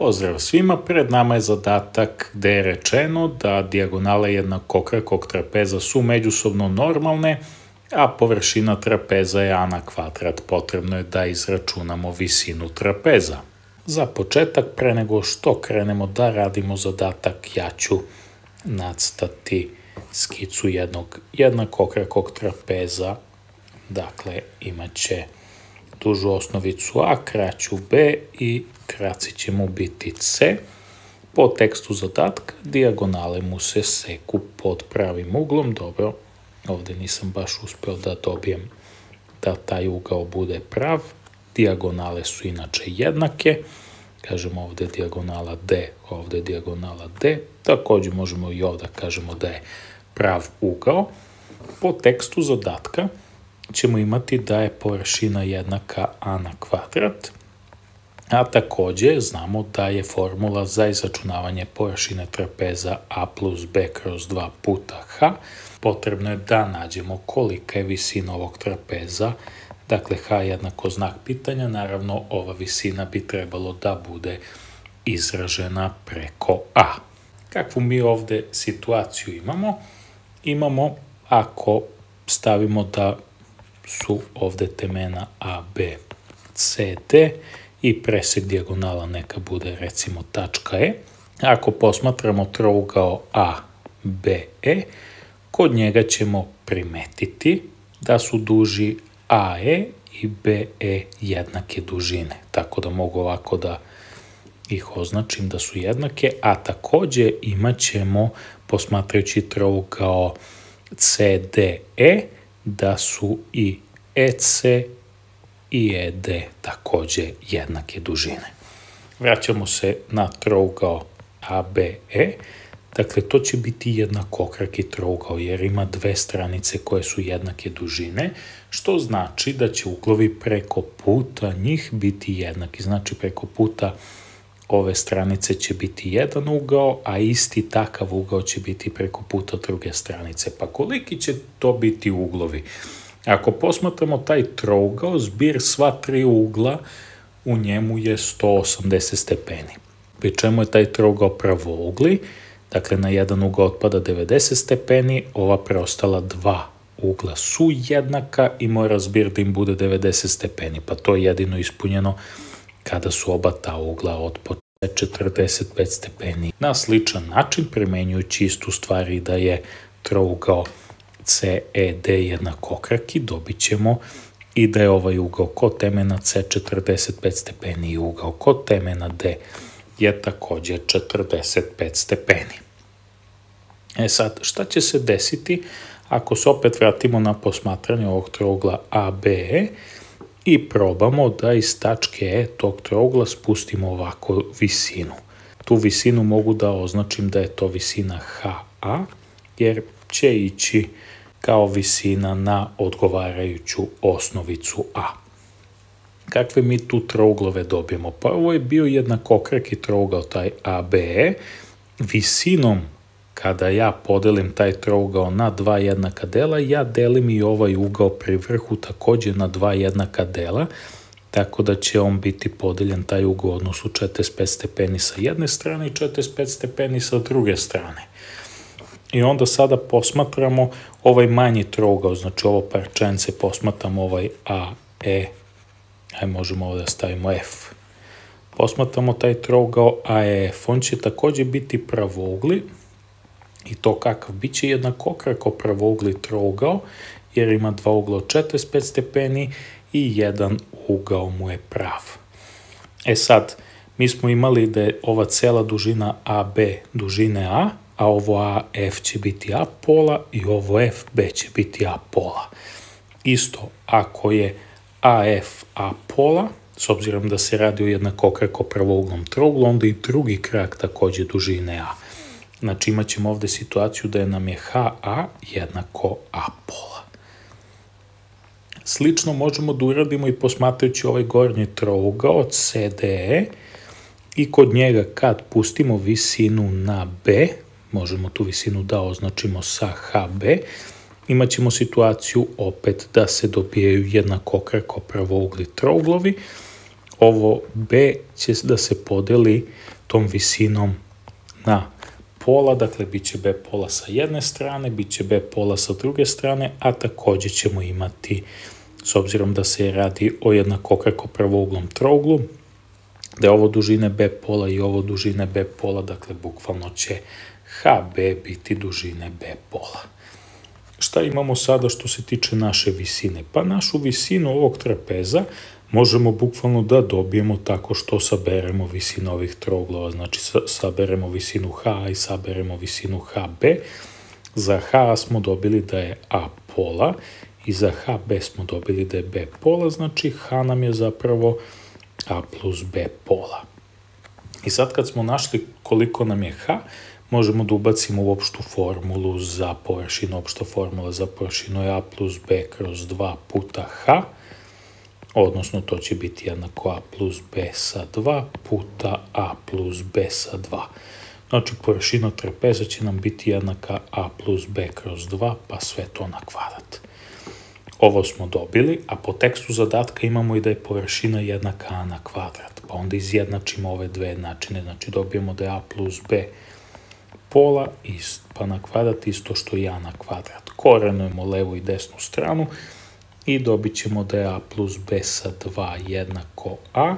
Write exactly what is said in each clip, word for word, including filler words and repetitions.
Pozdrav svima, pred nama je zadatak gde je rečeno da dijagonale jednakokrakog trapeza su međusobno normalne, a površina trapeza je a na kvadrat. Potrebno je da izračunamo visinu trapeza. Za početak, pre nego što krenemo da radimo zadatak, ja ću nacrtati skicu jednog jednakokrakog trapeza. Dakle, imat će dužu osnovicu a, kraću b i kraci će mu biti c. Po tekstu zadatka dijagonale mu se seku pod pravim uglom. Dobro, ovde nisam baš uspeo da dobijem da taj ugao bude prav. Dijagonale su inače jednake. Kažemo ovde dijagonala d, ovde dijagonala d. Takođe možemo i ovde kažemo da je prav ugao. Po tekstu zadatka ćemo imati da je površina jednaka a na kvadrat, a takođe znamo da je formula za izračunavanje površine trapeza a plus b kroz dva puta h. Potrebno je da nađemo kolika je visina ovog trapeza. Dakle, h jednako znak pitanja, naravno ova visina bi trebalo da bude izražena preko a. Kakvu mi ovde situaciju imamo? Imamo, ako stavimo da su ovde temena a, b, c, d i presek dijagonala neka bude recimo tačka e. Ako posmatramo trougao a, b, e, kod njega ćemo primetiti da su duži a e i b e jednake dužine. Tako da mogu ovako da ih označim da su jednake, a takođe imat ćemo, posmatrajući trougao c d e, da su i ec i ed takođe jednake dužine. Vraćamo se na trougao a b e. Dakle, to će biti jednakokraki trougao jer ima dve stranice koje su jednake dužine, što znači da će uglovi preko puta njih biti jednaki. Znači, preko puta ove stranice će biti jedan ugao, a isti takav ugao će biti preko puta druge stranice. Pa koliki će to biti uglovi? Ako posmatramo taj trougao, zbir sva tri ugla u njemu je sto osamdeset stepeni. Pri čemu je taj trougao pravougli, dakle na jedan ugao otpada devedeset stepeni, ova preostala dva ugla su jednaka i mora zbir da im bude devedeset stepeni, pa to je jedino ispunjeno kada su oba ta ugla od četrdeset pet stepeni. Na sličan način, primenjujući istu stvari da je trougao c e d jednakokraki, dobit ćemo i da je ovaj ugao kod temena c četrdeset pet stepeni i ugao kod temena d je takođe četrdeset pet stepeni. E sad, šta će se desiti ako se opet vratimo na posmatranje ovog trougla a b e i probamo da iz tačke e tog trougla spustimo ovako visinu. Tu visinu mogu da označim da je to visina ha a, jer će ići kao visina na odgovarajuću osnovicu a. Kakve mi tu trouglove dobijemo? Pa ovo je bio jednakokraki trougao, taj a b e. Visinom, kada ja podelim taj trougao na dva jednaka dela, ja delim i ovaj ugao pri vrhu takođe na dva jednaka dela, tako da će on biti podeljen taj ugao u odnosu četrdeset pet stepeni sa jedne strane i četrdeset pet stepeni sa druge strane. I onda sada posmatramo ovaj manji trougao, znači ovo parčence, posmatramo ovaj a, e, aj možemo ovde da stavimo f. Posmatramo taj trougao a e f, on će takođe biti pravougli, i to kakav? Biće jednakokrako pravougli trougao, jer ima dva ugla od četrdeset pet stepeni i jedan ugao mu je prav. E sad, mi smo imali da je ova cela dužina a b dužine a, a ovo a f će biti a pola i ovo f b će biti a pola. Isto, ako je a f a pola, s obzirom da se radi o jednakokrako pravouglom trouglu, onda i drugi krak takođe dužine a. Znači imat ćemo ovde situaciju da je nam je ha a jednako a pola. Slično možemo da uradimo i posmatrajući ovaj gornji trougao c d e i kod njega kad pustimo visinu na b, možemo tu visinu da označimo sa ha be, imat ćemo situaciju opet da se dobijaju jednakokrako pravougli trouglovi. Ovo b će da se podeli tom visinom na pola, dakle bit će B pola sa jedne strane, bit će B pola sa druge strane, a također ćemo imati, s obzirom da se radi o jednakokrako pravouglom trouglu, da je ovo dužine B pola i ovo dužine B pola, dakle bukvalno će H B biti dužine B pola. Šta imamo sada što se tiče naše visine? Pa našu visinu ovog trapeza možemo bukvalno da dobijemo tako što saberemo visinu ovih trouglova, znači saberemo visinu H i saberemo visinu H B. Za H smo dobili da je A pola i za H B smo dobili da je B pola, znači H nam je zapravo A plus B pola. I sad kad smo našli koliko nam je H, možemo da ubacimo u opštu formulu za površinu. Opšta formula za površinu je A plus B kroz dva puta H, odnosno to će biti jednako A plus B sa dva puta A plus B sa dva. Znači površina trapeza će nam biti jednaka A plus B kroz dva, pa sve to na kvadrat. Ovo smo dobili, a po tekstu zadatka imamo i da je površina jednaka A na kvadrat, pa onda izjednačimo ove dve jednačine, znači dobijemo da je A plus B pola, pa na kvadrat isto što i A na kvadrat. Korenujemo levu i desnu stranu i dobit ćemo da je A plus B sa dva jednako A,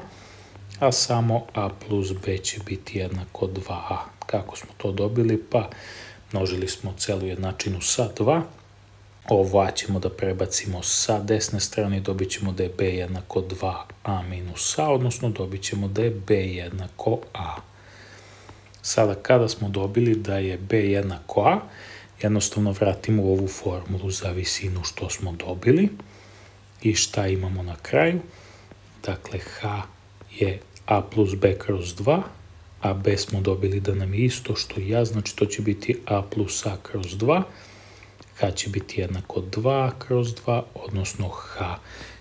a samo A plus B će biti jednako dva A. Kako smo to dobili? Pa množili smo celu jednačinu sa dva, ovo A ćemo da prebacimo sa desne strane i dobit ćemo da je B jednako dva A minus A, odnosno dobit ćemo da je B jednako A. Sada kada smo dobili da je B jednako A, jednostavno vratimo u ovu formulu za visinu što smo dobili i šta imamo na kraju. Dakle, H je A plus B kroz dva, a B smo dobili da nam je isto što i A, znači to će biti A plus A kroz dva, H će biti jednako dva kroz dva, odnosno H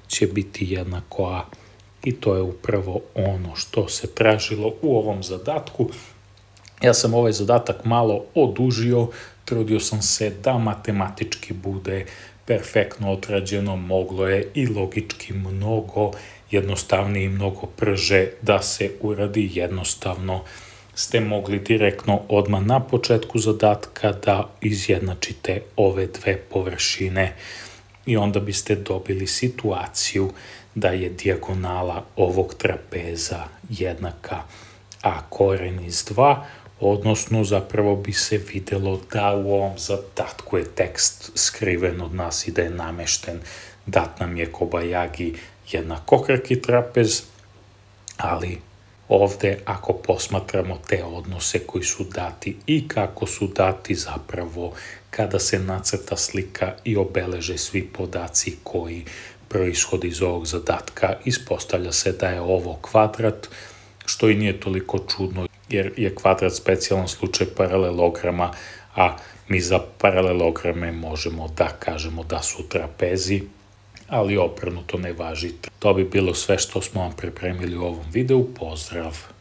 će biti jednako A. I to je upravo ono što se tražilo u ovom zadatku. Ja sam ovaj zadatak malo odužio, trudio sam se da matematički bude perfektno odrađeno, moglo je i logički mnogo jednostavnije i mnogo brže da se uradi. Jednostavno ste mogli direktno odmah na početku zadatka da izjednačite ove dve površine i onda biste dobili situaciju da je dijagonala ovog trapeza jednaka A koren iz dva, odnosno zapravo bi se videlo da u ovom zadatku je tekst skriven od nas i da je namešten, dat nam je Kobayagi jednakokraki trapez, ali ovde ako posmatramo te odnose koji su dati i kako su dati zapravo kada se nacrta slika i obeleže svi podaci koji proishode iz ovog zadatka, ispostavlja se da je ovo kvadrat, što i nije toliko čudno jer je kvadrat specijalan slučaj paralelograma, a mi za paralelograme možemo da kažemo da su trapezi, ali obrnuto ne važi. To bi bilo sve što smo vam pripremili u ovom videu. Pozdrav!